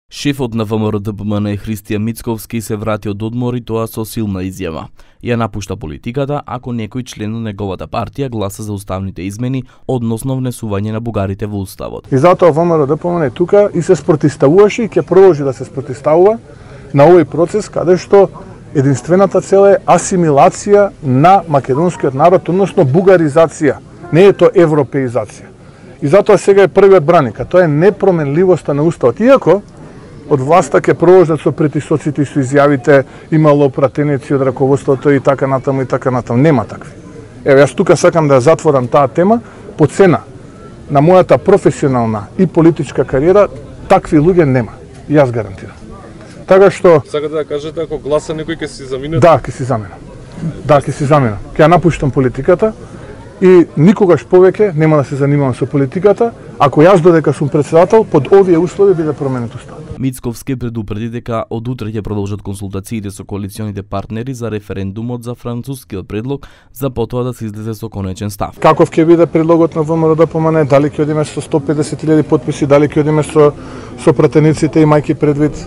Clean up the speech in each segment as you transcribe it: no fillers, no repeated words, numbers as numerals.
Шефот на ВМРО-ДПМН Христијан Мицковски се врати од одмор и тоа со силна изјава. Ја напушта политиката ако некој член на неговата партија гласа за уставните измени, односно внесување на бугарите во уставот. И затоа ВМРО-ДПМН е тука и се спротивставуваше и ќе продолжи да се спротивставува на овој процес каде што единствената цел е асимилација на македонскиот народ, односно бугаризација, не е тоа европеизација. И затоа сега е првиот браник, а тоа е непроменливоста на уставот. Иако од власта ќе продолжат со притисоците и со изјавите, имало пратеници од раководството и така натаму и така натаму. Нема такви. Еве, јас тука сакам да ја затворам таа тема по цена на мојата професионална и политичка кариера, такви луѓе нема. Јас гарантирам. Така што сакате да кажете ако гласа некој ќе си замине? Да, ќе си заминам. Да, ќе си заминам. Ќе ја напуштам политиката и никогаш повеќе нема да се занимавам со политиката, ако јас додека сум председател под овие услови биде променет уставот. Мицковски предупреди дека од утре ќе продолжат консултациите со коалиционите партнери за референдумот за францускиот предлог, за потоа да се излезе со конечен став. Каков ќе биде предлогот на ВМРО-ДПМН, дали ќе одиме со 150.000 потписи, дали ќе одиме со пратениците, имајќи предвид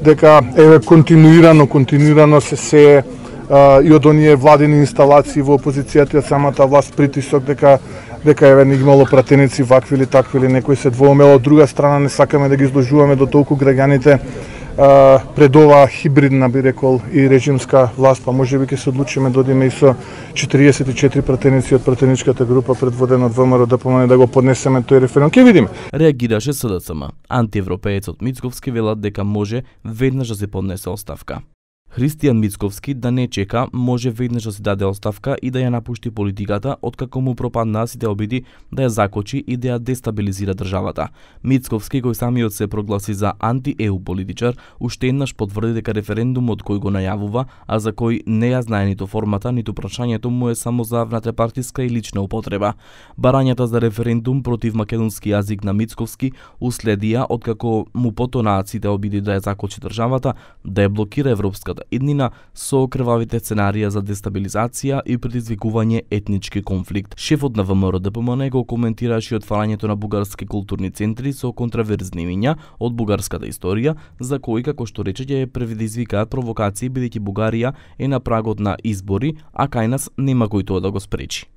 дека еве континуирано се и од оние владини инсталации во опозицијата и самата власт притисок дека еве не имало пратеници вакви или такви или некој се двоумел. Од друга страна не сакаме да ги изложуваме до толку граѓаните пред оваа хибридна, би рекол, и режимска власт, па можеби ќе се одлучиме да одиме и со 44 пратеници од пратеничката група предводена од ВМРО-ДПМН да го поднесеме тој референдум. Ќе видиме. Реагираше СДСМ. Антиевропеецот Мицковски велат дека може веднаш да се поднесе оставка. Христијан Мицковски да не чека, може веднаш да си даде оставка и да ја напушти политиката, откако му пропаднаа сите обиди да ја закочи и да ја дестабилизира државата. Мицковски, кој самиот се прогласи за анти-ЕУ политичар, уште еднаш потврди дека референдумот кој го најавува, а за кој не ја знае ниту формата, ниту прашањето му е само за внатрешпартиска и лична употреба. Барањата за референдум против македонски јазик на Мицковски уследија откако му потонаат сите обиди да ја закочи државата, да ја блокира европската иднина со крвавите сценарија за дестабилизација и предизвикување етнички конфликт. Шефот на ВМРО-ДПМН го коментираше отварањето на бугарски културни центри со контраверзни имиња од бугарската историја, за кои, како што рече, ќе предизвикаат провокации бидејќи Бугарија е на прагот на избори, а кај нас нема кој тоа да го спречи.